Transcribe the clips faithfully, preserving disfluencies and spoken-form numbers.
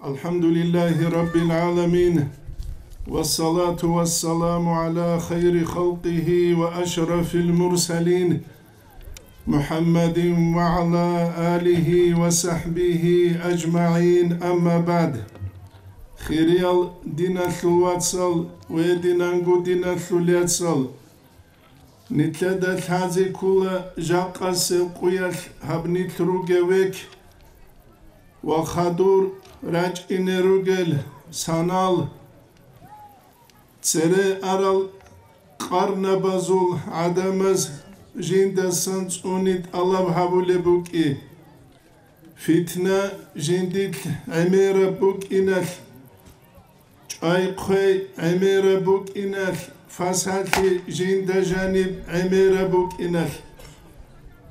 الحمد لله رب العالمين، والصلاة والسلام على خير خلقه وأشرف المرسلين، محمد وعلى آله وصحبه أجمعين، أما بعد. Хириял диналъул вацал ва гьединанго диналъул яцал, нилъеда лъазе ккола жакъасеб къуялъ гьаб нилъ ругев век ва хадур рачӀине ругел санал. Цере арал къарнабазул гӀадамаз жиндасан цӀуни тӀалаб гьабулеб букӀи. Фитна жиндилъ гӀемераб букӀиналъ, чӀвай-хъвей гӀемераб букӀиналъ, фасалъи жинда жаниб гӀемераб букӀиналъ.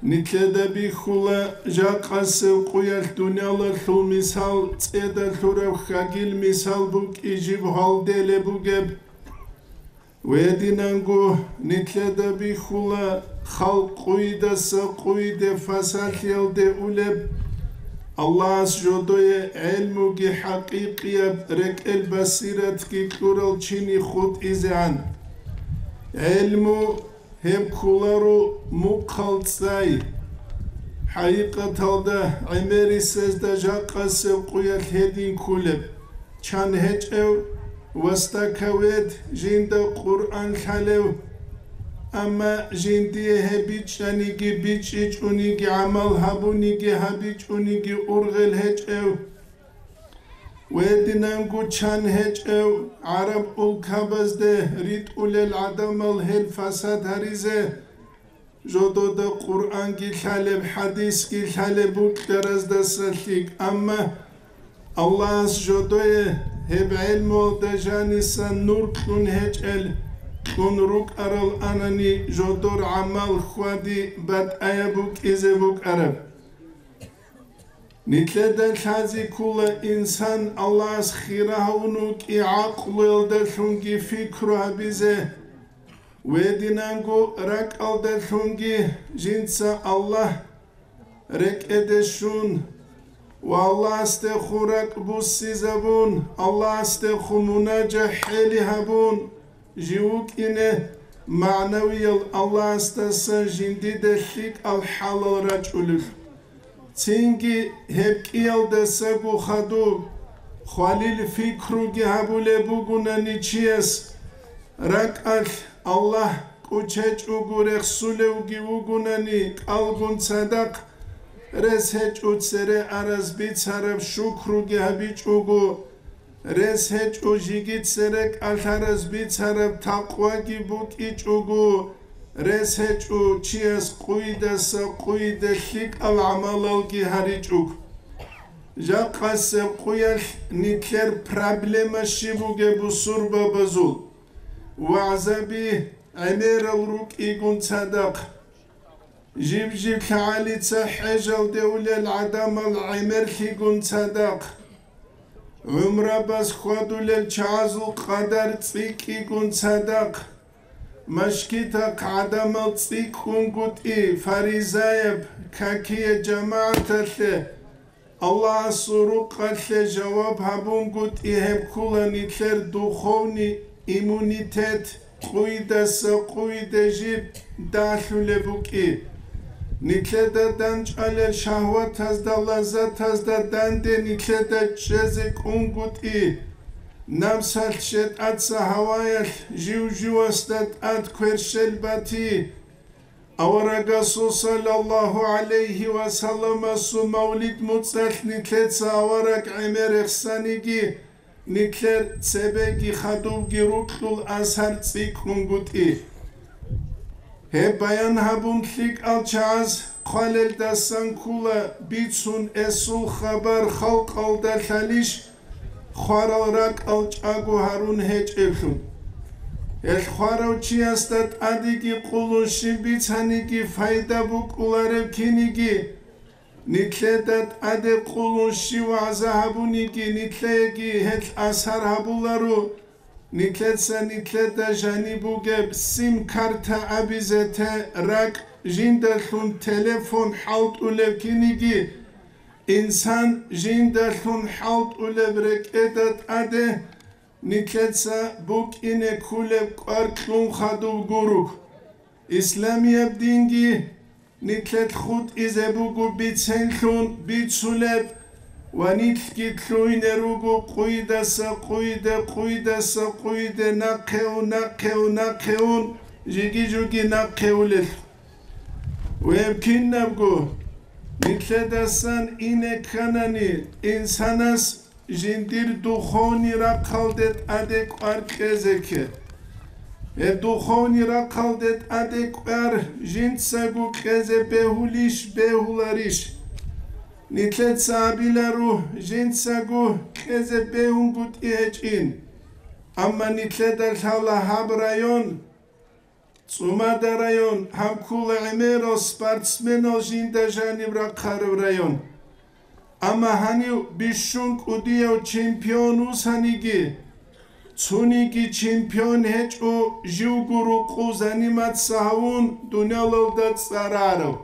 Нилъеда бихьула жакъасеб къуялъ дуниялалъул мисал цӀеда лъураб хьагил мисал букӀи жиб гьалделеб бугеб. Гьединанго нилъеда бихьула халкъ къуйдаса къуйде фасалъиялде улеб, Аллагьас жодое гӀелмуги хӀакъикъияб рекӀел басиратги кьурал чини хутӀизегӀан. ГӀелму гьеб кколаро мухъал цӀай. ХӀакъикъаталда гӀемерисезда жакъасеб къуялъ гьедин кколеб. Чан гьечӀев, востоковед, жинда Къуръан лъалев, амма жиндие гьеб бичӀчӀаниги бичӀчӀичӀониги гӀамал гьабуниги гьабичӀониги ургъел гьечӀев, гьединанго чан гьечӀев, гӀараб улкабазде ритӀулел гӀадамал гьел фасад гьаризе, жодода Къуръанги лъалеб, хӀадисги лъалеб букӀараздаса лъикӀ, амма Аллагьас жодое гьеб гӀелмуялда жанисан нур кьун гьечӀел, кьун рукӀарал анани, жодор гӀамал хьвади батӀаяб букӀизе букӀараб. Нилъеда лъазе ккола инсан Аллагьас хира гьавун вукӀи гӀакълуялдалъунги фикру гьабизе, гьединанго ракӀалдалъунги жинца Аллагь рекӀеде щун ва Аллагьасдехун ракӀ буссизабун, Аллагьасдехун мунажа хӀели гьабун, жив вукӀине, магӀнавиял Аллагьасдасан жиндида лъикӀал хӀалал рачӀулел. Цинги гьеб кӀиялдасаго хадуб, хвалил фикруги гьабулеб бугунани чияс, ракӀалъ Аллагь кӀучечӀого рехсулевги вугунани кӀалгун цадахъ, рес гьечӀо цере араз бицараб шукруги гьабичӀого, рес гьечӀо жиги цере кӀалъараз бицараб такъваги букӀичӀого, рес гьечӀо чияс къуйдаса къуйде лъикӀал гӀамалалги гьаричӀого. Жакъасеб къуялъ нилъер проблема щиб бугеб бусурбабазул? ВагӀзаби гӀемерал рукӀигун цадахъ, жиб-жиб лъагӀалица хӀежалде улел гӀадамал гӀемерлъигун цадахъ, гӀумрабаз хьвадулел чагӀазул къадар цӀикӀкӀигун цадахъ, машгитахъ гӀадамал цӀикӀкӀунгутӀи, фаризаяб какие жамагӀаталъе, Аллагьасул рукъалъе жаваб гьабунгутӀи гьеб ккула нилъер духовный иммунитет къуйдаса къуйде жиб далъулеб букӀи. Нилъеда данчӀвалел шагьватазда, лаззатазда данде нилъеда чӀезе кӀунгутӀи, напсалъ шетӀаца гьаваялъ жив-живасда тӀад кверщел бати. Аварагасул саллаллагьу гӀалайгьи ва салламасул мавлид муцӀалъ нилъеца авараг гӀемер рехсаниги, нилъер цебеги хадубги рукьул асар цӀикӀкӀунгутӀи. Гьеб баян гьабун лъикӀал чагӀаз хъвалелдасан ккула бицун эсул хабар халкъалда лъалищ, хварал ракӀал чӀаго гьарун гьечӀеблъун. Гьелъ хварав чиясда тӀадеги къулун щиб бицаниги пайда букӀулареб киниги, нилъеда тӀаде къулун щив вагӀза гьабуниги, нилъееги гьелъ асар гьабуларо, нилъеца нилъеда жаниб бугеб сим-карта абизе те ракӀ жиндалъун телефон хӀалтӀулев киниги, Инсан жиндалъун хӀалтӀулеб рекӀеда тӀаде нилъеца букӀине кколеб кӀвар кьун хадуб гуро. Исламияб динги нилъер хутӀизе буго биценлъун бицулеб ва нилъги лъугьине руго къуйдаса къуйде, къуйдаса къуйде, нахъе ун, нахъе ун, нахъе ун, жиги-жуги нахъе улелъул. Гьеб кинабго нилъедасан ине кканани, инсанас жиндир духовный рахъалде тӀаде кӀвар кьезе кке. Гьеб духовный рахъалде тӀаде кӀвар жинцаго кьезе бегьулищ, бегьуларищ? Нилъеца абиларо, жинцаго кьезе бегьунгутӀи гьечӀин. Амма нилъеда лъала гьаб район, ЦӀумада район, гьаб ккола гӀемерал спортсменал жинда жаниб рахъараб район. Амма гьанив бищун кӀудияв чемпион вусаниги, цониги чемпион гьечӀо, живго рукъу заниматься гьавун дуниялалда цӀарарав.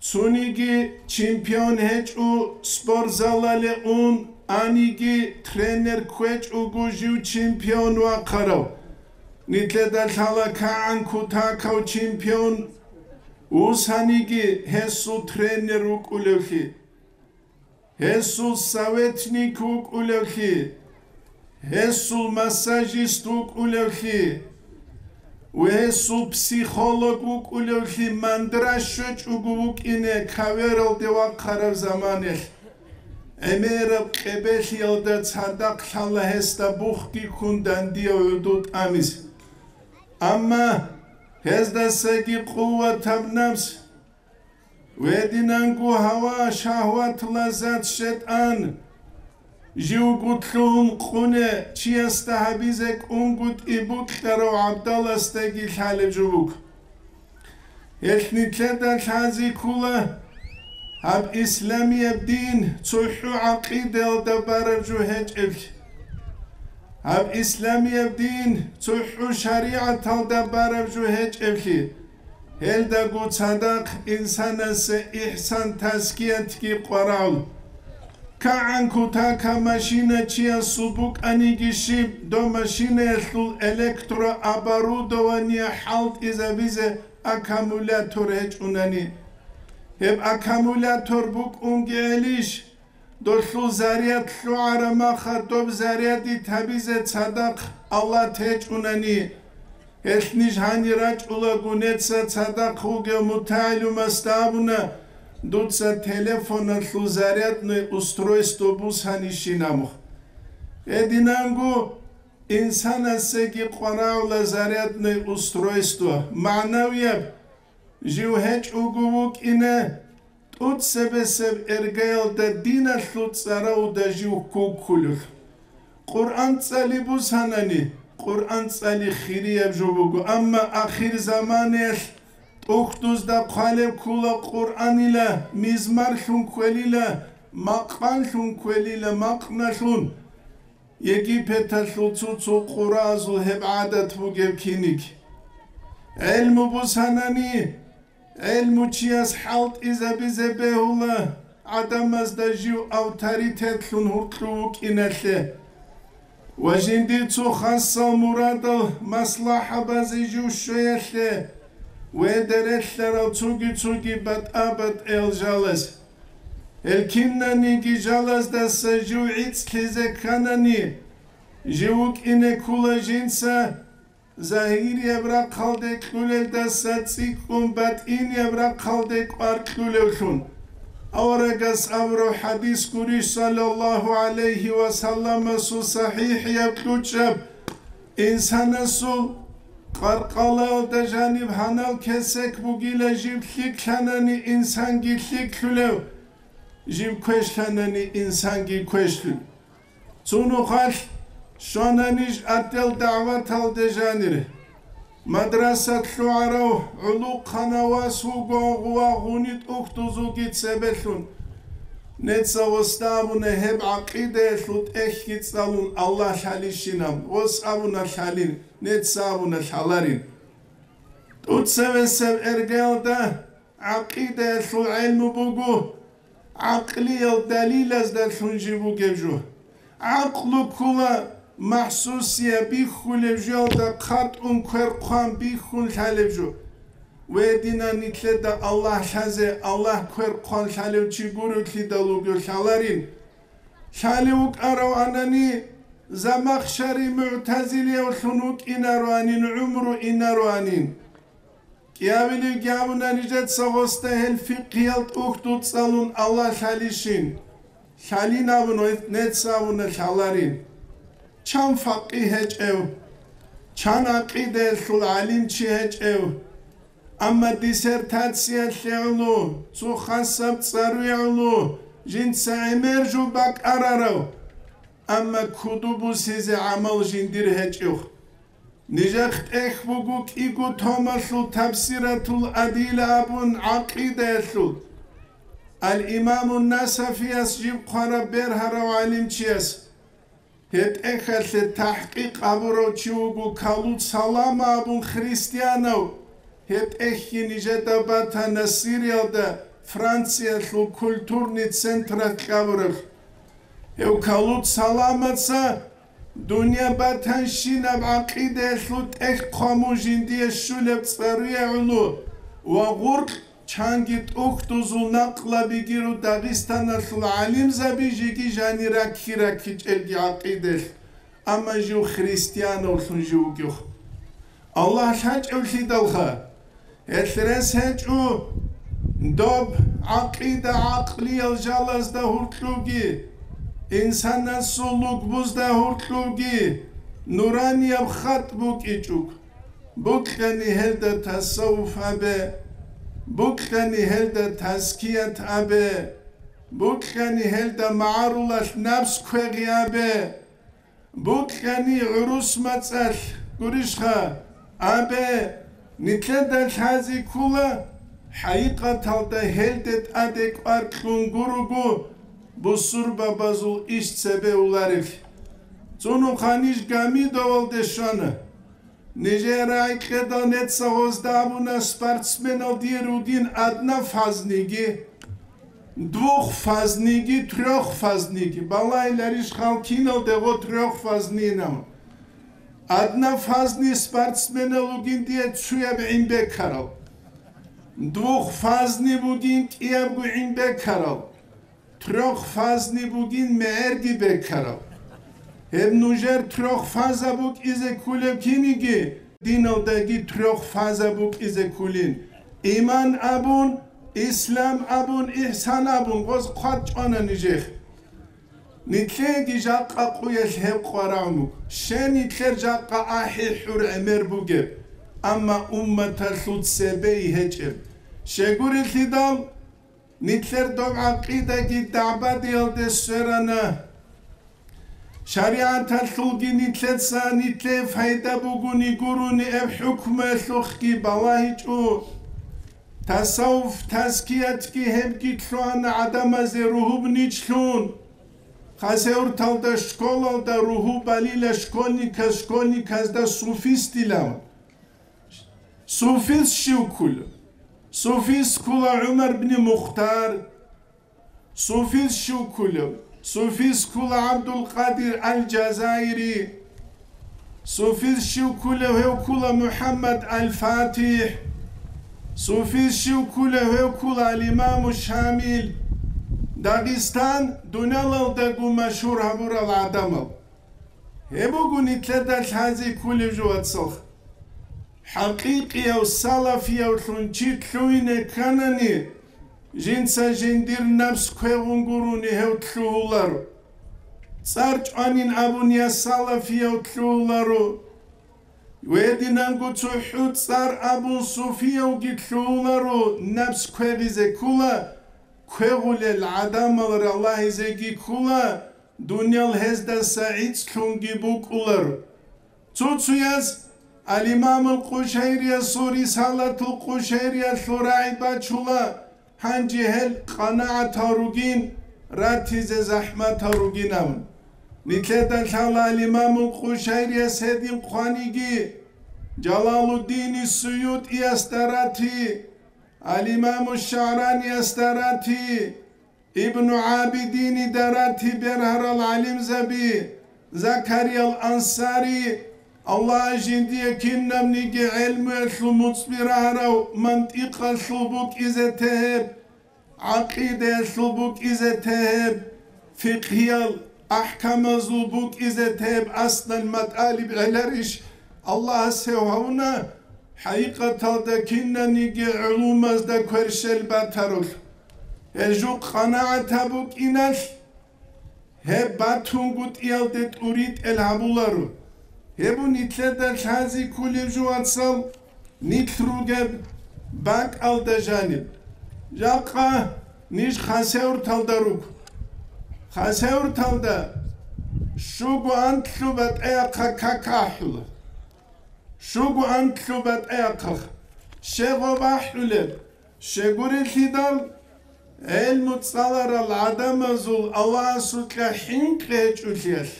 Цониги чемпион гьечӀо спортзалале ун, аниги тренер кквечӀого жив чемпион вахъарав. Нилъеда лъала кагӀан кутакав чемпион вусаниги гьесул тренер вукӀулевлъи, гьесул советник вукӀулевлъи, гьесул массажист вукӀулевлъи ва гьесул психолог вукӀулевлъи мандра щвечӀого вукӀине кавералде вахъараб заманалъ, гӀемераб къебелъиялда цадахъ лъала гьесда бухги ккун дандияв гӀодов тӀамизе. Амма гьездасаги къуватаб напс, гьединанго гьава, шагьват, лаззат, шайтӀан, живго лъугьун къуне чиясда гьабизе кӀунгутӀи букьарав гӀабдаласдаги лъалеб жо буго. Гьелъ нилъеда лъазе ккола гьаб исламияб дин цохӀо гӀакъидаялда бараб жо гьечӀеблъи, гьаб исламияб дин цохӀо шаригӀаталда бараб жо гьечӀеблъи, гьелдаго цадахъ инсанасе ихсан-тазкиятги къварагӀула. КагӀан кутака машина чиясул букӀаниги щиб, доб машинаялъул электрооборудование хӀалтӀизабизе аккумулятор гьечӀунани. Гьеб аккумулятор букӀунги гьелищ, долъул заряд лъугӀараб маха доб зарядить гьабизе цадахъ алат гьечӀунани? Гьелъ ниж гьанир рачӀулаго, неца цадахъ вугев мутагӀилумасда абуна, дуца телефоналъул зарядное устройство бусанищин абун. Гьединанго инсанасеги къварагӀула зарядное устройство, магӀнавияб жив гьечӀого вукӀине, тӀоцебесеб эргаялда диналъул цӀаравда жив ккуккулев. Къуръан цӀали бусанани, Къуръан цӀали хирияб жо буго, амма ахирзаманаялъ тӀухьдузда хъвалеб ккола Къуръанила, мизмарлъун кквелила, макъанлъун кквелила, макъналъун. Египеталъул цо-цо къуразул гьеб гӀадат бугеб киниг. ГӀелму бусанани, гӀелму чияс хӀалтӀизабизе бегьула гӀадамазда жив авторитетлъун гьуркьу вукӀиналъе ва жиндир цо хасал мурадал маслахӀабазе жив щвеялъе ва гьеде релълъарал цоги-цоги батӀа-батӀиял жалаз. Гьел кинаниги жалаздаса жив гӀицӀлъизе кканани, жив вукӀине ккола жинца загьирияб рахъалде кьулелдаса цӀикӀкӀун батӀинияб рахъалде кӀвар кьулевлъун. Аварагас абураб хӀадис гурищ, саллаллагьу гӀалайгьи ва салламасул сахӀихӀияб кьучӀаб: инсанасул къаркъалаялда жаниб гьанал кесек бугила жиб лъикӀлъанани инсанги лъикӀлъулев, жиб квешлъанани инсанги квешлъулев. Цо нухалъ щвана ниж отдел дагӀваталде жанир. Мадраса лъугӀарав гӀулухъанав вас вуго гъува гъуни тӀухьдузулги цебелъун. Неца восда абуна гьеб гӀакъидаялъул тӀехьги цӀалун Аллагь лъалищинаб, вос абуна лъалин, неца абуна лъаларин. ТӀуцевесев эргалда гӀакъидаялъул гӀелму буго, гӀакълиял далилаздалъун жиб бугеб жо. ГӀакълу ккола махсусияб бихьулеб жоялда хъатӀун квер хъван бихьун лъалеб жо. Гьединан нилъеда Аллагь лъазе, Аллагь квер хъван лъалев чи гуревлъидал вугев лъаларин. Лъалев вукӀарав анани, Замахшари мугӀтазилиявлъун вукӀинароанин, гӀумру инароанин. КӀиявилевги абуна нижеца гъосда гьел фикъгьиял тӀухьдул цӀалун Аллагь лъалищин. Лъалин абун, нецц абуна лъаларин. Чан факъигь гьечӀев, чан гӀакъидаялъул гӀалимчи гьечӀев, амма диссертациялъе гӀоло, цо хасаб цӀаруе гӀоло, жинца гӀемер жо бакӀарарав, амма куду бусизе гӀамал жиндир гьечӀев. Нижехъ тӀехь буго кӀиго томалъул Табсиратул Адила абун гӀакъидаялъул, Ал-Имамун Насафияс жиб хъвараб бергьарав гӀалимчияс. Гьеб тӀехьалъе тахӀкъикъ гьабурав чи вуго Калуд Салама абун христианав. Гьеб тӀехьги нижеда батана Сириялда, Франциялъул культурный централъ абураб. Гьев Калуд Саламаца дунъя батанщинаб гӀакъидаялъул тӀехь хъвамун жиндие щулеб цӀаруе гӀоло ва гъуркь чанги тӀухьдузул накълабигиру Дагъистаналъул гӀалимзаби жеги жани ракки-раккичӀелги гӀакъидаялъ, амма жив христиановлъун жив вугев. Аллагь лъачӀевлъидалха, гьелъ рес гьечӀо доб гӀакъида гӀакълиял жалазда гьуркьуги, инсанасул лугбузда гьуркьуги нуранияб хатӀ букӀичӀого. Букьани гьелда тасаввуф абе, букьани гьелда тазкият абе, букьани гьелда магӀарулалъ напс квегъи абе. Букьани гӀурус мацӀалъ гурищха абе, нилъеда лъази ккола, хӀакъикъаталда гьелде тӀаде кӀвар кьун гурого бусурбабазул иш цебе уларелъ. Цунухъа ниж Гамидовалде щвана. Нижер рагӀикьедал нецагъозда абуна спортсменал дие ругин однофазниги, двухфазниги, трёхфазниги. Балагьиларищ хал киналде гъо трёхфазнинав? Однофазни спортсменал ругин дие цуяб гӀин бекарал. Двухфазни бугин кӀиябго гӀин бекарал. Трёхфазни бугин мегӀерги бекарал. Гьеб нужер трёхфаза букӀизе ккулев киниги, диналдаги трёхфаза букӀизе ккулин. Иман абун, ислам абун, ихсан абун, гъоз хъвад чӀвана нижехъ. Нилъеги жакъа къуялъ гьеб къварагӀун буго. Щай нилъер жакъа ахӀи-хӀур гӀемер бугеб, амма умматалъул цебей гьечӀеб. Щайгурелъидал, нилъер доб гӀакъидаги дагӀбадиялде сверана. ШаригӀаталъулги нилъеца нилъее пайда бугони гурони гьеб хӀукмуялъухъги балагьичӀо. Тасаввуф, тазкиятги гьебги лъугьана гӀадамазе ругьуб нилъ лъун. Хасавюрталда школалда ругьу балила школьниказ школьниказда суфистилан. Суфист щив ккула? Суфист ккула ГӀумар бни Мухтар. Суфист щив ккула? Суфист ккула ГӀабдулкъадир аль-Жазаири. Суфист щив ккула? Гьев ккула МухӀаммад аль-ФатихӀ. Суфист щив ккула? Гьев ккула аль-Имаму Шамил. Дагъистан дуниялалдаго машгьур гьабурал гӀадамал. Гьеб буго нилъеда лъази кколеб жо, вацал. ХӀакъикъияв салафиявлъун чи лъугьине кканани, жинца жиндир напс квегъун гурони гьев лъугьуларо. ЦӀар чӀванин абун я салафияв лъугьуларо, гьединанго цохӀо цӀар абун суфиявги лъугьуларо, напс квегъизе ккола, квегъулел гӀадамал ралагьизеги ккола, дуниял гьездаса гӀицӀлъунги букӀулар. Цо-цояз Ал-Имамул Къушайриясул Рисалатул Къушайриялъул рагӀи бачула, гьанже гьел къанагӀатал ругин, ратизе захӀматал ругин абун. Нилъеда лъала Ал-Имамул Къушайрияс гьедин хъваниги, Жалалуддини СуютӀиясда рати, Ал-Имаму ШагӀраниясда рати, Ибну ГӀабидинида ратиб бергьарал гӀалимзаби, Закариял Ансари, Аллагь жиндие кинабниги гӀелмуялъул муцӀби рагьарав, мантикъалъул букӀизе тегьеб, гӀакъидаялъул букӀизе тегьеб, фикъгьиял ахӀкамазул букӀизе тегьеб аслан матӀалиб гӀеларищ Аллагьас гьев гьавуна, хӀакъикъаталда кинаниги гӀулумазда кверщел батарулъ. Гьел жугъ къанагӀат гьабукӀиналъ, гьеб батунгутӀиялде тӀуритӀел гьабуларо. Гьеб нилъеда лъази кколеб жо, вацал, нилъ ругеб бакӀалда жаниб. Жакъа ниж Хасавюрталда руго. Хасавюрталда щуго анлъу батӀа-яхъа как ахӀула. Щуго анлъу батӀа-яхъа. Щегъо бахӀулеб, щегурелъидал гӀелму цӀаларал гӀадамазул Аллагьасукьа хӀинкъи гьечӀолъиялъ.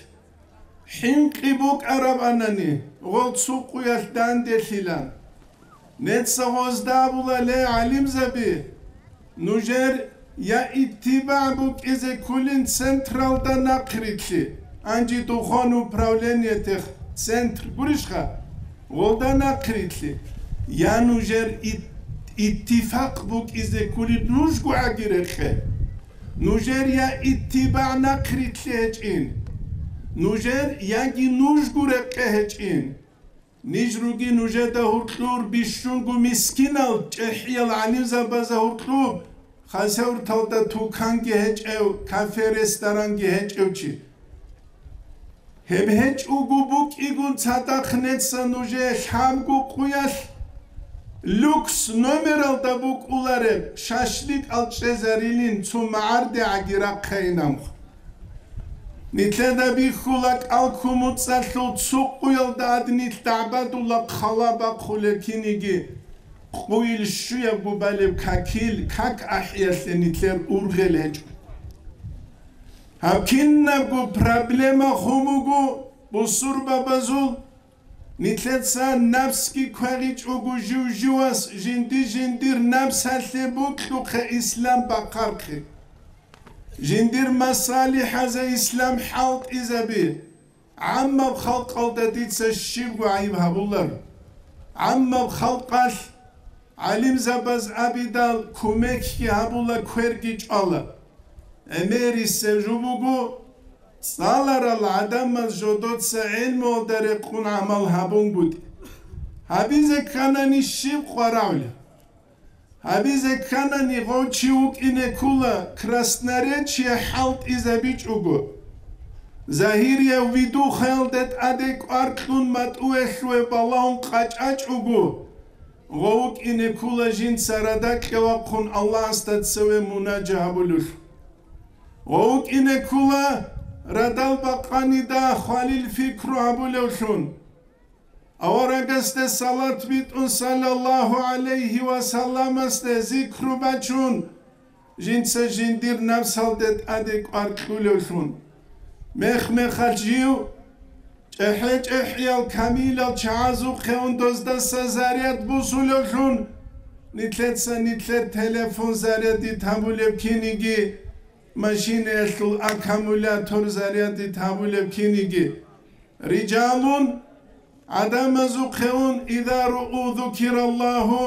ХӀинкъи букӀарабанани, гъол цо къуялъ данделъила. Нецаго гъозда абула, ле, гӀалимзаби, нужер я иттибагӀ букӀизе кколин централда нахърилълъи, анжи духовный управлениятех центр гурищха, гъолда нахърилълъи, я нужер ит-, иттифакъ букӀизе кколин нужго гӀаги рекъе. Нужер я иттибагӀ нахърилълъи гьечӀин, нужер яги нужго рекъе гьечӀин. Ниж руги нужеда гьуркьур бищунго мискинал чӀехӀиял гӀалимзабазда гьуркьуб, Хасавюрталда туканги гьечӀев, кафе-ресторанги гьечӀев чи. Гьеб гьечӀого букӀигун цадахъ неца нужее лъабго къуялъ люкс номералда букӀулареб шашликъал чӀезарилин цо магӀардегӀаги рахъайинамха. Нилъеда бихьула кӀалккун муцӀалъул цо къуялда гьадинилъ дагӀбадула хъала бахъулеб киниги, къуйил щуябго балеб какил, как ахӀиялъе нилъер ургъел гьечӀо. Гьаб кинабго проблема хун буго бусурбабазул. Нилъеца напсги квегъичӀого жив-живас жинди-жиндир напсалъе бокьухъе ислам бахъархъе. Жиндир масалихӀазе ислам хӀалтӀизаби. ГӀаммаб халкъалда дица щибго гӀайиб гьабулар. ГӀаммаб халкъалъ гӀалимзабаз абидал кумекги гьабула, кверги чӀвала. ГӀемерисеб жо буго, цӀаларал гӀадамаз жодоца гӀелмуялда рекъун гӀамал гьабунгутӀи. Гьабизе кканани щиб къваравли? Гьабизе кканани гъов чи вукӀине ккула Красноречье хӀалтӀизабичӀого, Загьирияв Видухаялде тӀаде кӀвар кьун матӀуялъуве балагьун къачӀачӀого, гъов вукӀине ккула жинца радакье вахъун Аллагьасда цеве мунажа гьабулев. Гъов вукӀине ккула радал бакъанида хвалил пикру гьабулевлъун. Аварагасде салат битӀун, саллаллагьу гӀалайгьи ва салламасде зикру бачун, жинца жиндир напсалде тӀаде кӀвар кьулевлъун. Мех-мехалъ жив чӀехӀе-чӀехӀиял камилал чагӀазухъе ундоздаса заряд бусулевлъун, нилъеца нилъер телефон зарядит гьабулеб киниги, машинаялъул аккумулятор зарядит гьабулеб киниги. Рижалун, гӀадамазухъе ун, иза ругьу зукираллагьу,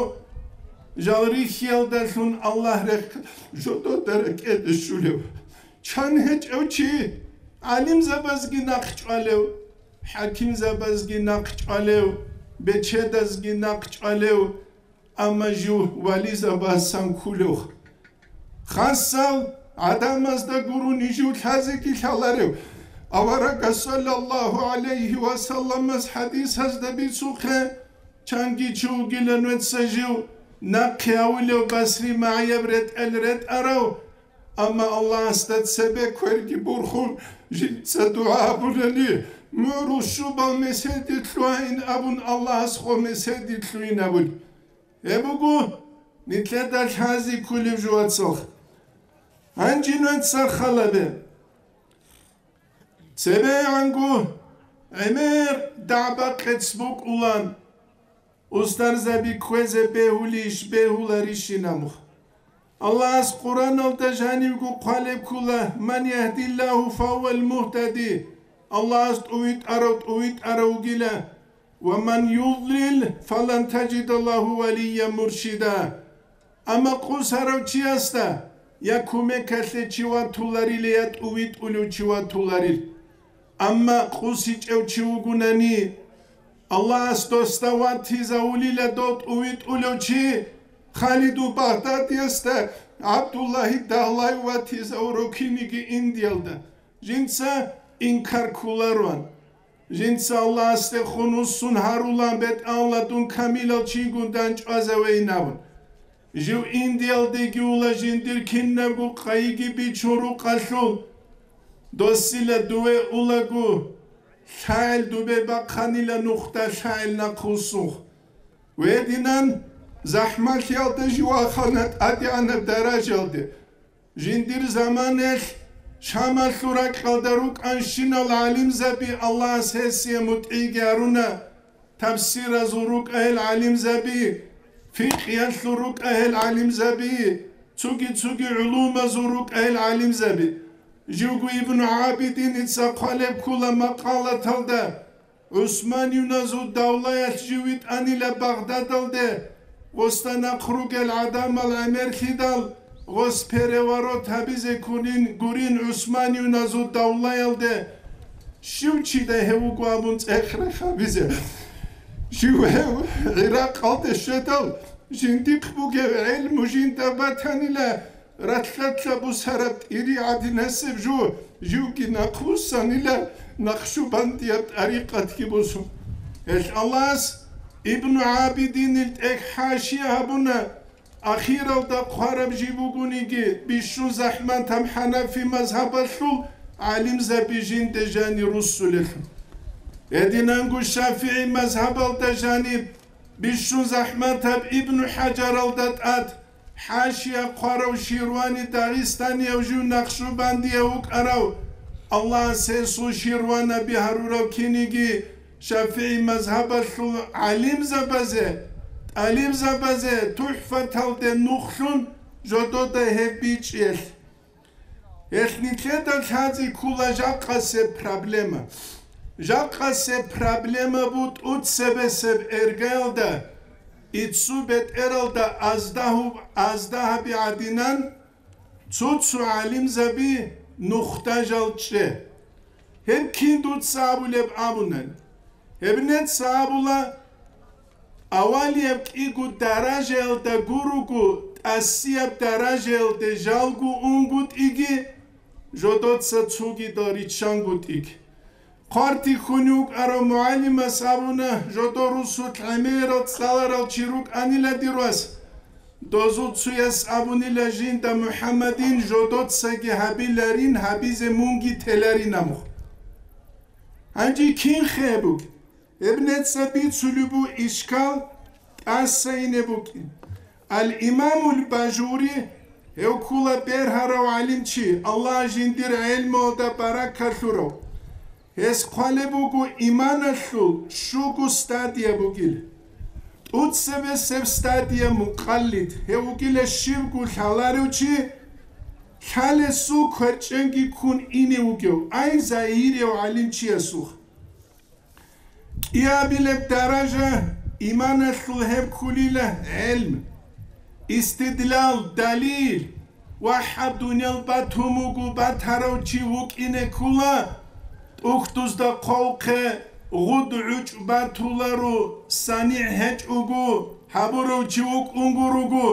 жал рихьиялдалъун Аллагь рехь жодода рекӀеде щулев. Чан гьечӀев чи, гӀалимзабазги нахъ чӀвалев, хӀакимзабазги нахъ чӀвалев, бечедазги нахъ чӀвалев, амма жив вализабасан ккулев. Хасал гӀадамазда гурони жив лъазеги лъаларев. Аварагас, саллаллагьу гӀалайгьи ва салламас хӀадисазда бицухъе, чанги чи вугилан вецца жив нахъе гьавулев басри магӀияб ретӀел ретӀарав, амма Аллагьасда цебе кверги бурхун, жинца дугӀа гьабунани, мугӀрул щубал меседилъугьин абун, Аллагьас гъо меседилъугьин абун. Гьеб буго нилъеда лъази кколеб жо, вацал. Гьанже нуца халабе. ЦебегӀанго гӀемер дагӀба-къец букӀулан, устарзаби кквезе бегьулищ, бегьуларищин абун. Аллагьас Къуръаналда жанивго хъвалеб ккола: «Ман яхдиллагьу фагьувал мугьтади», Аллагьас тӀувитӀарав тӀувитӀарав вугила, «ва ман юдлил фалан таджида лагьу валиян муршида». Амма къусарав чиясда я кумекалъе чи ватуларила, я тӀувитӀулев чи ватуларил. Амма къусичӀев чи вугунани, Аллагьас досда ватизавулила дов тӀувитӀулев чи. Халиду Багъдадиясда ГӀабдуллагьи Дагьлай ватизавуро киниги Индиялда. Жинца инкар кколароан. Жинца Аллагьасдехун вуссун гьарулан бетӀалла дун камилал чингун дандчӀвазавейин абун. Жив Индиялдеги ула жиндир кинабго къайиги бичун рукъалъул. Досила дуве улаго, лъагӀел дубе бахъанила нухда лъагӀел нахъвуссухъ. Гьединан захӀмалъиялда жив ахана тӀадегӀанаб даражалде. Жиндир заманаялъ Шамалъул ракьалда рукӀанщинал гӀалимзаби, Аллагьас гьесие мутӀигӀги гьаруна, тафсиразул рукӀа гьел гӀалимзаби, фикъгьиялъул рукӀа гьел гӀалимзаби, цоги-цоги гӀулумазул рукӀа гьел гӀалимзаби. Живго Ибну ГӀабидиница хъвалеб ккола макъалаталда, ГӀусманиюназул давлаялъ жив витӀанила Багъдадалде, гъосда нахъ ругел гӀадамал гӀемерлъидал, гъос переворот гьабизе ккунин гурин ГӀусманиюназул давлаялде. Щив чида гьев вуго абун цӀех-рех гьабизе? Щив гьев ГӀиракъалде щведал, жиндихъ бугев гӀелму жинда батанила, ралъдалъа бусараб тӀири гӀадинасеб жо, живги нахъвуссанила, накъшубандияб тӀарикъатги босун. Гьелъ Аллагьас Ибну ГӀабидинил тӀехь хӀашия гьабуна, ахиралда хъвараб жи бугониги, бищун захӀматаб хӀанафи мазгьабалъул гӀалимзаби жинде жани руссулелъул. Гьединанго шафигӀи мазгьабалда жаниб бищун захӀматаб Ибну ХӀажаралда тӀад хӀашия хъварав Ширвани Дагъистанияв жив накъшубандияв вукӀарав, Аллагьас гьесул Ширванаби гьарурав киниги, шафигӀи мазгьабалъул гӀалимзабазе, тӀалибзабазе ТухӀфаталде нухлъун жодода гьеб бичӀчӀиялъ. Гьелъ нилъеда лъазе ккола жакъасеб проблема. Жакъасеб проблема бу тӀуцебесеб эргаялда, иццу бетӀералда аздагьу-, аздагьаби гӀадинан, цо-цо гӀалимзаби нухда жал чӀе. Гьеб кин дуца абулеб абунани? Гьеб нецаабула, авалияб кӀиго даражаялда гуруго, тӀасияб даражаялде жалго унгутӀиги, жодоца цогидал риччангутӀиги. Хъвартихьун вукӀарав мугӀалимас абуна, жодор русулъ гӀемерал цӀаларал чи рукӀанила дир вас. Дозул цуяс абунила жинда МухӀаммадин жодоцаги гьабиларин, гьабизе мунги теларин абун. Гьанже кин хебуг? Гьеб нецӀа бицулеб бу ишкал тӀаса ине букӀин. Ал-Имамул Бажури, гьев ккула бергьарав гӀалимчи, Аллагь жиндир гӀелмуялда баракат лъурав. Гьес хъвалеб буго иманалъул щуго стадия бугил. ТӀуцебесеб стадия мукъаллид, гьев вугила щивго лъаларев чи, лъалесул кверчӀенги ккун ине вугев, ай загьирияв гӀалимчиясухъ. КӀиабилеб даража иманалъул гьеб ккулила гӀелм, истидлал, далил, ва гьаб дуниял батун буго батарав чи вукӀине ккула, тӀухьдузда хъвавухъе гъуд гӀучӀ батуларо, санигӀ гьечӀого гьабурав чи вукӀун гуруго,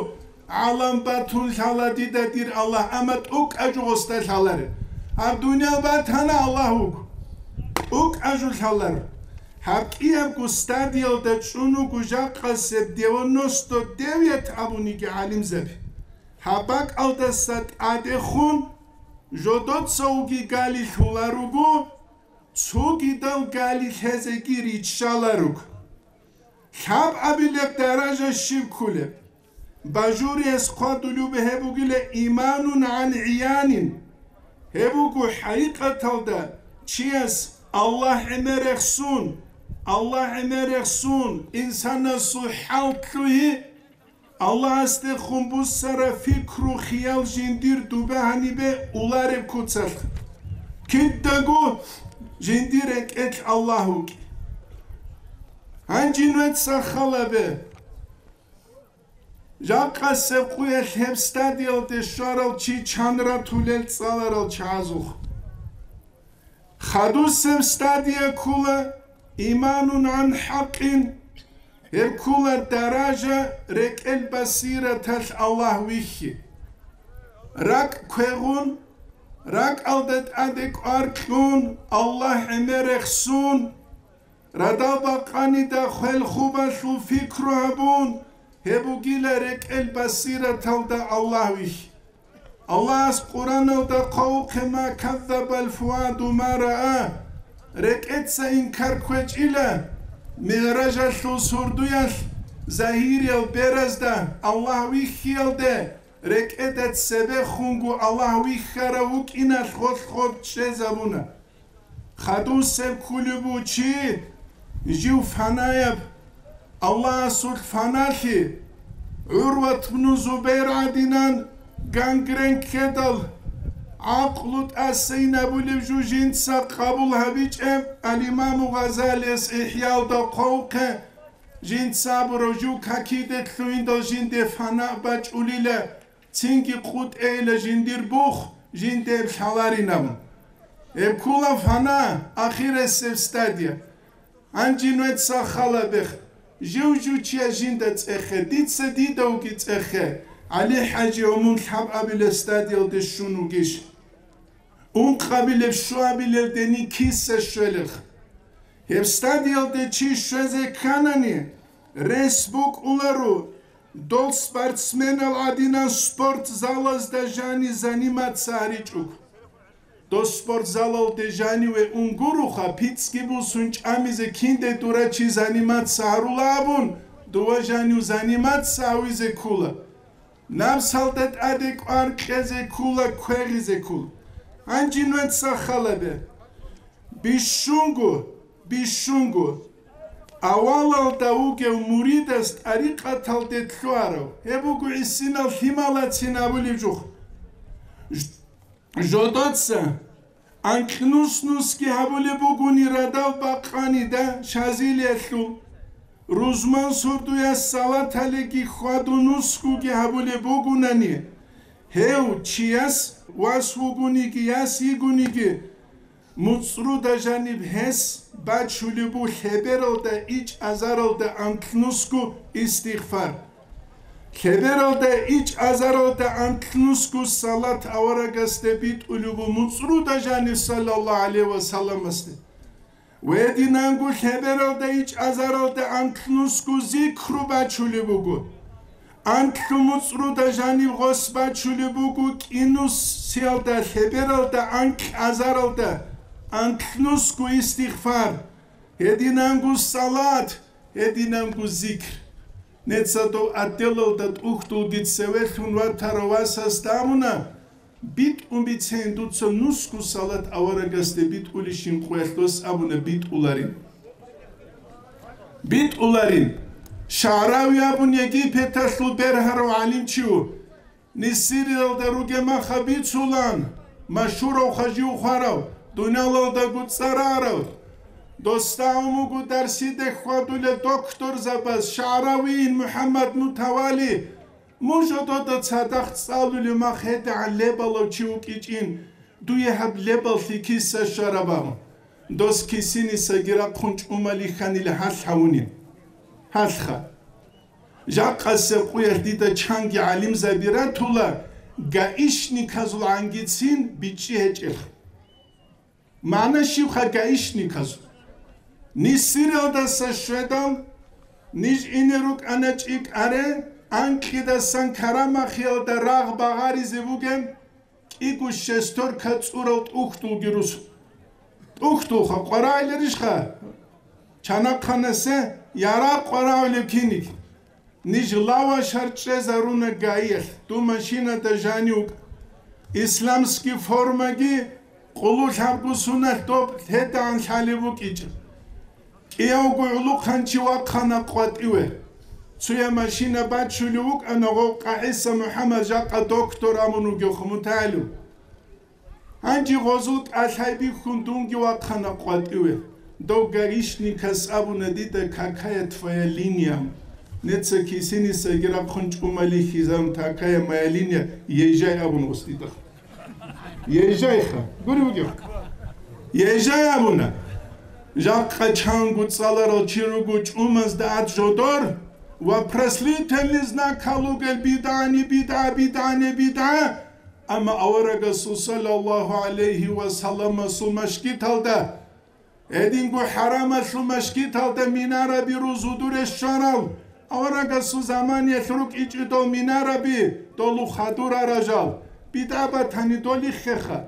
гӀалам батун лъала дида дир Аллагь, амма тӀукӀа жугъусда лъаларе. Гьаб дуниял батана Аллагь вуго. ТӀукӀа жу лъаларо. Гьаб кӀиябго стадиялда чӀун вуго жакъасеб девяносто девять абуниги гӀалимзаби. Гьаб бакӀалдаса тӀадехун жодоцавги гали лъуларуго, цогидал гали лъезеги риччаларуго. Лъабабилеб даража щиб ккулеб? Бажуриялъ хъвадулеб гьеб бугила иманун гӀан гӀиянин. Гьеб буго хӀакъикъаталда чияс Аллагь гӀемерехсун, Аллагь гӀемерехсун инсанасул хӀал лъугьи, Аллагьасдехун буссараб пикру-хиял жиндир дуба гьанибе улареб куцалъ. Кидаго жиндир рекӀелъ Аллагь вукӀи. Гьанже нужеца хал гьабе. Жакъасеб къуялъ гьеб стадиялде щварав чи чан ратулел цӀаларал чагӀазухъ. Хадусеб стадия ккола иманун гӀан хӀакъин, гьеб ккола даража рекӀел басираталъ Аллагь вихьи. РакӀ квегъун, ракӀалда тӀаде кӀвар кьун, Аллагь гӀемер рехсун, радал бакъанида хвел-хубалъул пикру гьабун, гьеб бугила рекӀел басираталда Аллагь вихьи. Аллагьас Къуръаналда хъвавухъе: «Ма каззабал фуаду ма раа». РекӀеца инкар кквечӀила, МигӀражалъул сурдуялъ загьириял беразда Аллагь вихьиялде, рекӀеда цебехунго Аллагь вихьарав вукӀиналъ гъолъ гъоб чӀезабуна. Хадусеб кколеб буго чи, жив фанаяб, Аллагьасул фаналъи, ГӀурват бну Зубайр гӀадинан гангрен ккедал, гӀакълу тӀасайин абулеб жо жинца къабул гьабичӀеб, ал-Имаму Гъазалияс ИхӀялда хъвавухъе, жинца абурав жо какиде лъугьиндал жинде фана бачӀулила, цинги къутӀейила жиндир бух, жинде гьеб лъаларинаб. Гьеб ккола фана, ахирисеб стадия. Гьанже нужеца хал гьабе, жив-жив чияс жинда цӀехе, дица дидавги цӀехе, ГӀали-хӀажи, гьев мун лъабабилеб стадиялде щун вугищ? Ункъабилеб, щуабилелдени киса щвелелха? Гьеб стадиялде чи щвезе кканани, рес букӀуларо, дол спортсменал гӀадинан спортзалазда жани заниматься гьаричӀого. Дос спортзалалде жаниве ун гуроха, пицӀги бусун чӀамизе, кинде дура чи заниматься гьарула абун, дова жанив заниматься гьавизе ккола. Напсалда тӀаде кӀвар кьезе ккола, квегъизе ккола. Гьанже нужеца хал гьабе. Бищунго, бищунго авалалда вугев муридас тӀарикъаталде лъугьарав, гьеб буго гӀисинал лъималацин абулеб жо. Ж-, жодоца анкьнус-нусги гьабулеб бугони радал бакъанида Шазилиялъул, рузман сурдуяс салаталиги хьваду-нусгуги гьабулеб бугунани, гьев чияс вас вугониги, яс йигониги, муцӀруда жаниб гьес бачулеб бу лъебералда ичӀазаралда анкьнусго истигъфар. Лъебералда ичӀазаралда анкьнусго салат аварагасде битӀулеб бу муцӀруда жаниб, саллаллагьу гӀалайгьи ва салламасде. Гьединанго лъебералда ичӀазаралда анкьнусго зикру бачулеб буго. Анкьлъу муцӀруда жаниб гъос бачулеб буго кӀинусиялда лъебералда анкьазаралда анкьнусго истигъфар, гьединанго салат, гьединанго зикр. Неца дов отделалда тӀухьдулги цевелъун ватарав васасда абуна, битӀун бицейин дуца нусго салат аварагасде битӀулищин къуялъ, дос абуна, битӀуларин. БитӀуларин. ШагӀрави абун Египеталъул бергьарав гӀалимчи ву. Нисириялда ругеб маха бицулан, машгьурав хажив хварав, дуниялалдаго цӀарарав, досда гьумуго дарсиде хьвадулев докторзабаз ШагӀравиин МухӀаммад Мутавали, мун жодода цадахъ цӀалулев мах гьедигӀан лебалав чи вукӀичӀин, дуе гьаб лебаллъи киса щвараб абун, дос кисинисаги рахъун чӀумали хьанила гьалъ гьавунин. Гьалъха. Жакъасеб къуялъ дида чанги гӀалимзаби ратула, гаишниказул гӀангицин бичӀчӀи гьечӀелъ. МагӀна щибха гаишниказул? Нисиралдаса щведал, ниж ине рукӀана чӀикӀаре, анкьидасан Карамахиялда рагъ багъаризе бугеб, кӀиго шестерка цӀурал тӀухьдулги рус. ТӀухьдулха, къварагӀиларищха? Чанахъанасе ярагъ къварагӀулев киниг. Ниж лавашар чӀезаруна гаиялъ, дун машинада жанив вукӀа. Исламский формаги къулулъабго суналъ доб лъедагӀан лъалеб букӀичӀеб. КӀиявго гӀулухъанчи вахъана къватӀиве. Цоя машина бачулев вукӀана, гъов КъагӀиса МухӀаммад, жакъа доктор абун вугев, мутагӀалим. Гьанже гъозул кӀалъай бихьун дунги вахъана къватӀиве. Дов гаишникас абуна дида: «Какая твоя линия?» Неца кисинисаги рахъун чӀумали хизан: «Такая моя линия, езжай», абун гъос дида. Езжайха, гури вугев. Езжай абуна. Жакъа чанго цӀаларал чи руго чӀумазда ат жодор ва вопросительный знак гьалугел: «БидгӀани бидгӀа, бидгӀани бидгӀа». Амма аварагасул саллаллагьу гӀалайгьи ва салламасул машгиталда Гьединго хӀарамалъул машгиталда минараби рузудуре щварал, аварагасул заманиялъ рукӀичӀидал минараби долу хадура ражал, бидгӀа батани долиххеха.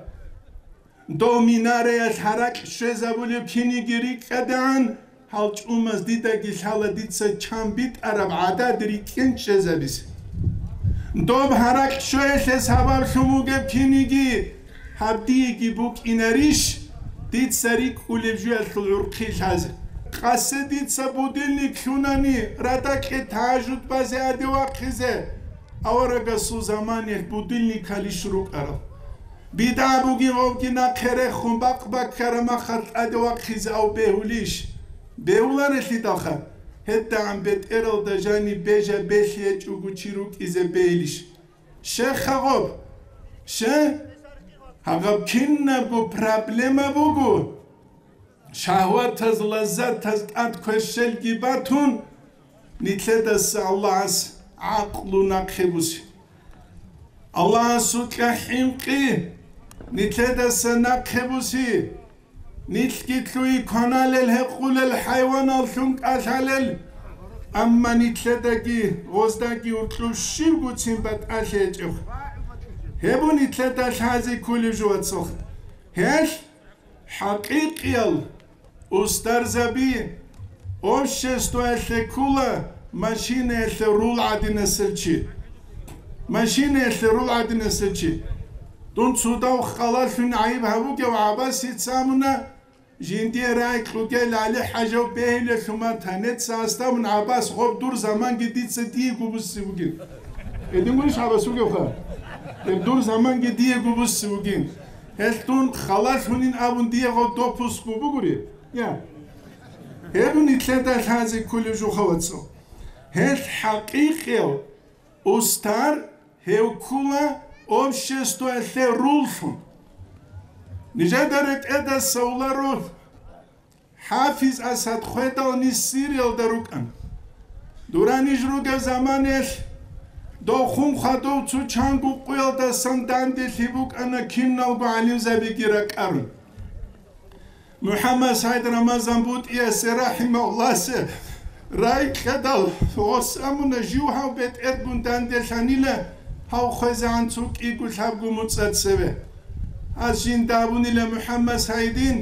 Дов минараялъ гьаракь щвезабулев киниги рикӀкӀадегӀан, гьал чӀумаз дидаги лъала дица чан битӀараб гӀадад рикӀкӀен чӀезабизе. Доб гьаракь щвеялъе сабаблъун вугеб киниги гьаб диеги букӀинарищ, дица рикӀкӀулеб жуялъул гӀурхъи лъазе? Къасе дица будильник лъунани, радакье тажуд базе гьаде вахъизе, аварагасул заманиялъ будильникалищ рукӀарал? БидгӀа бугин гъовги нахъе рехун, бакъ баккараб махалъ тӀаде вахъизе ав бегьулищ? Бегьуларелъидалха, гьедагӀан бетӀералда жаниб бежа белъи гьечӀого чи рукӀизе бегьилищ? Щеха гъоб? Ще? Гьагъаб кинабго проблема буго. Шагьватаз, лаззатаз тӀад кверщелги батун, нилъедаса Аллагьас гӀакълу нахъе буси. Аллагьасукьа хӀинкъи нилъедаса нахъе буси. Нилъги лъугьи кваналел, гьекъулел, хӀайваналлъун кӀалъалел, амма нилъедаги гъоздаги уркьуб щибгоцин батӀалъи гьечӀеб. Гьеб нилъеда лъазе кколеб жо, вацал. Гьелъ хӀакъикъиял устарзаби обществоялъе ккола машинаялъе рул гӀадинасел чи. Машинаялъе рул гӀадинасел чи. Дун цо дов халалъун гӀайиб гьабугев ГӀаббасица абуна, жиндие рагӀи кьугел ГӀали-хӀажав бегьулелъул ман танеца гьасда абун: «ГӀаббас, гъоб дур заманги дица диего буссив вугин». Гьедин гурищ ГӀаббас вугевха? Гьеб дур заманги диего буссив вугин. Гьелъ дун халалъунин абун дие гъов допуск бугури? Я. Гьеб нилъеда лъазе кколеб жо, вацал. Гьелъ хӀакъикъияв устар гьев ккола обществоялъе руллъун. Нижеда ретӀедаса уларо, ХӀафиз Асад хведал ниж Сириялда рукӀана. Дура ниж ругеб заманаялъ дов хун хадув цо чанго къуялдасан данделъи букӀана, киналго гӀалимзабиги ракӀарун. МухӀаммад СагӀид Рамазан БутӀиясе, рахӀимагьуллагьасе, рагӀи кьедал гъос абуна: «Жив гьав бетӀергун данделъанила, гьав хвезегӀан цо кӀиго лъабго муцӀа цеве». Гьас жинда абунила: «МухӀаммад СагӀидин,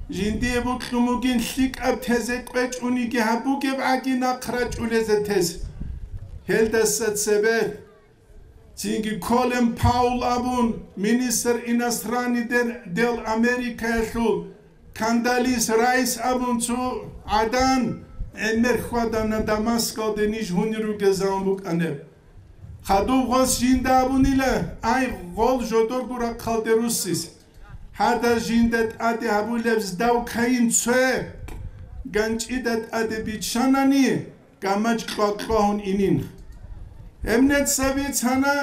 жиндие бокьун бугин лъикӀаб тезе кӀвечӀониги гьаб бугеб гӀаги нахъ рачӀулезе тез». Гьелдаса цебе цинги Колин Паул абун, министр иностранных дел Америкаялъул, Кондолиза Райс абун цо гӀадан, гӀемер хьвадана Дамаскалде ниж гьунир ругезавун букӀанеб. Хадуб гъос жинда абунила: «Ай, гъол жодорго рахъалде руссис. Гьадаз жинда тӀаде гьабулеб здавкайин цое, ганчӀида тӀаде биччанани, гамачӀ кьва-кьвагьун инин». Гьеб нецаби цана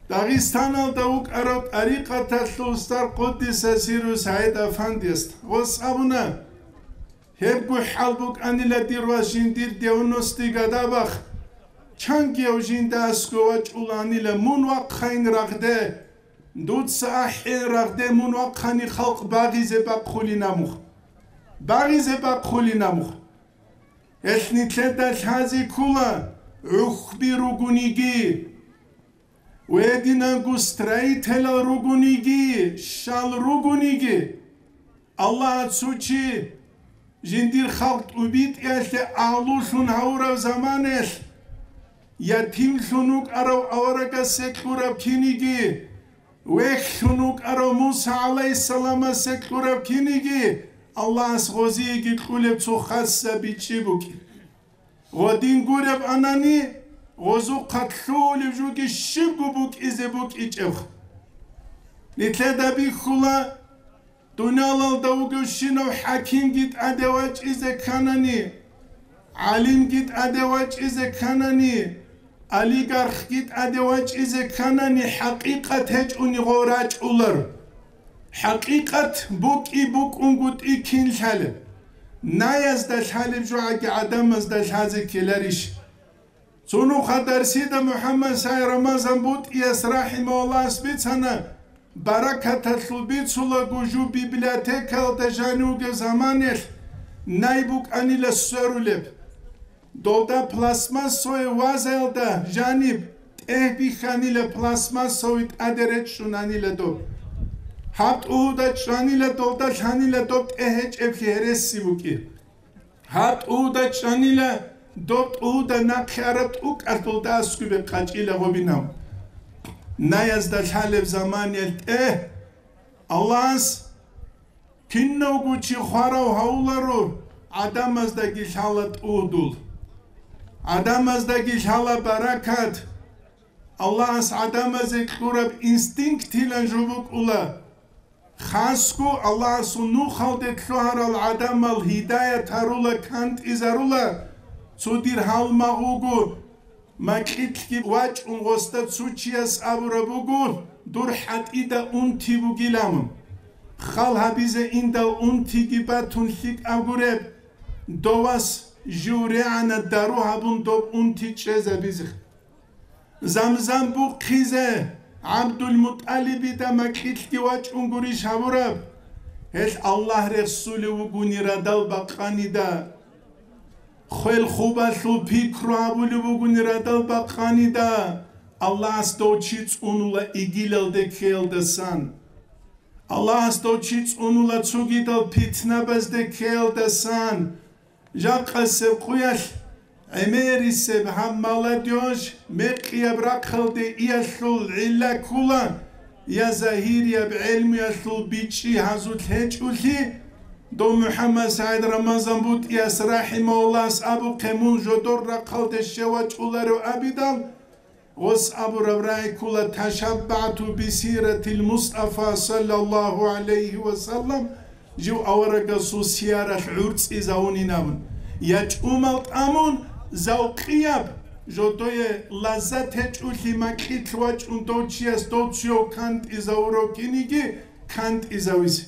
Дагъистаналда вукӀарав тӀарикъаталъул устар Къуддиса Сирру СагӀид Афандиясда. Гъос абуна: «Гьебго хӀал букӀанила, дир вас, жиндир девяностые годабахъ, чангияв жинда аскӀов вачӀуланила, мун вахъайин рагъде, дуца ахӀен рагъде, мун вахъани халкъ багъизе бахъулин абун. Багъизе бахъулин абун». Гьелъ нилъеда лъазе ккола, гӀухьби ругониги, гьединанго строителал ругониги, щал ругониги, Аллагьас цо чи жиндир халкъ тӀубитӀиялъе агьлулъун гьавурав заманаялъ, ятимлъун вукӀарав аварагасе кьураб киниги, вехьлъун вукӀарав Муса гӀалайгьиссаламасе кьураб киниги, Аллагьас гъозиеги кьулеб цо хасса бичӀчӀи букӀин. Гъодин гуреб анани, гъозухъа лъугьулеб жуги щибго букӀизе букӀичӀеб. Нилъеда бихьула, дуниялалда вугевщинав хӀакимги тӀаде вачӀизе кканани, гӀалимги тӀаде вачӀизе кканани, олигархги тӀаде вачӀизе кканани, хӀакъикъат гьечӀони гъо рачӀулар. ХӀакъикъат букӀи букӀунгутӀи кин лъалеб? Наязда лъалеб жо гӀаги гӀадамазда лъазе ккеларищ? Цо нухда дарсида МухӀаммад СагӀид Рамазан БутӀияс рахӀимагьуллагьас бицана, баракаталъул бицулаго жо библиотекаялда жанив вугев заманаялъ най букӀанила сверулеб. Долда пластмассовый вазаялда жаниб тӀегь бихьанила, пластмассовый тӀаде речӀчӀунанила доб. Гьаб тӀугьуда чӀванила, долда лъанила доб тӀегь гьечӀеблъи гьереси букӀин. Гьаб тӀугьуда чӀванила, доб тӀугьуда нахъе араб тӀукӀалъ долда аскӀубе къачӀила гъобинав. Наязда лъалеб заманаялъ тӀе Аллагьас кинавго чи хварав гьавуларо, гӀадамаздаги лъала тӀугьдул. ГӀадамаздаги лъала баракат. Аллагьас гӀадамазе кьураб инстинктилан жо букӀула. Хасго Аллагьасул нухалде лъугьарал гӀадамал гьидаят гьарула, кантӀизарула, цо дир гьалмагъ вуго, макьилъги вачӀун гъосда цо чияс абураб буго, дур хӀатӀида унти бугилан. Хал гьабизе индал унтиги батун лъикӀаб гуреб, довас жив регӀана дару гьабун доб унти чӀезабизе. Замзам бухъизе ГӀабдулмутӀалибида макьилъги вачӀун гурищ гьабураб? Гьелъ Аллагь рехсулев вугони радал бакъанида. Хвел хубалъул пикру гьабулев вугони радал бакъанида, Аллагьас дов чи цӀунула игилалде ккеялдасан. Аллагьас дов чи цӀунула цогидал питнабазде ккеялдасан. Жакъасеб къуялъ гӀемерисеб гьаб молодёжь мекъияб рахъалде иялъул гӀилла ккула, я загьирияб гӀелмуялъул бичӀчӀи гьазулъ гьечӀолъи, дов МухӀаммад СагӀид Рамазан БутӀияс рахӀимагьуллагьас абухъе мун жодор рахъалде щев вачӀуларев абидал, гъос абураб рагӀи ккула: «ТашаббагӀту бисиратил Мустафа саллаллагьу гӀалайгьи ва саллам», жив аварагасул сияралъ гӀурцӀизавунин абун. Я чӀумал тӀамун, завкъияб, жодое лаззат гьечӀолъи макьилъ вачӀун дов чияс дов цояв кантӀизавурав киниги кантӀизавизе.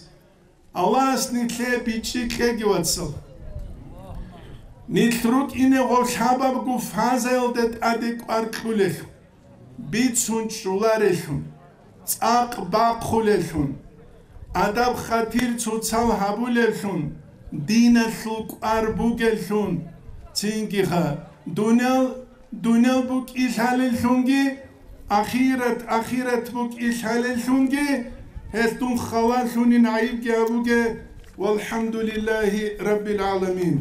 Аллагьас нилъее бичӀчӀи кьеги, вацал. Нилъ рукӀине гъов лъабабго фазаялда тӀаде кӀвар кьулелъул, бицун чӀоларелъун, цӀакъ бахъулелъун, адаб-хатир цоцал гьабулелъун, диналъул кӀвар бугеллъун, цинги-ха, дуниял Дуниял букӀи лъалеллъунги, ахират, ахират букӀи лъалеллъунги, гьелъ дун халалъунин гӀайибги абуге, валхӀамдулиллагьи раббил гӀаламин.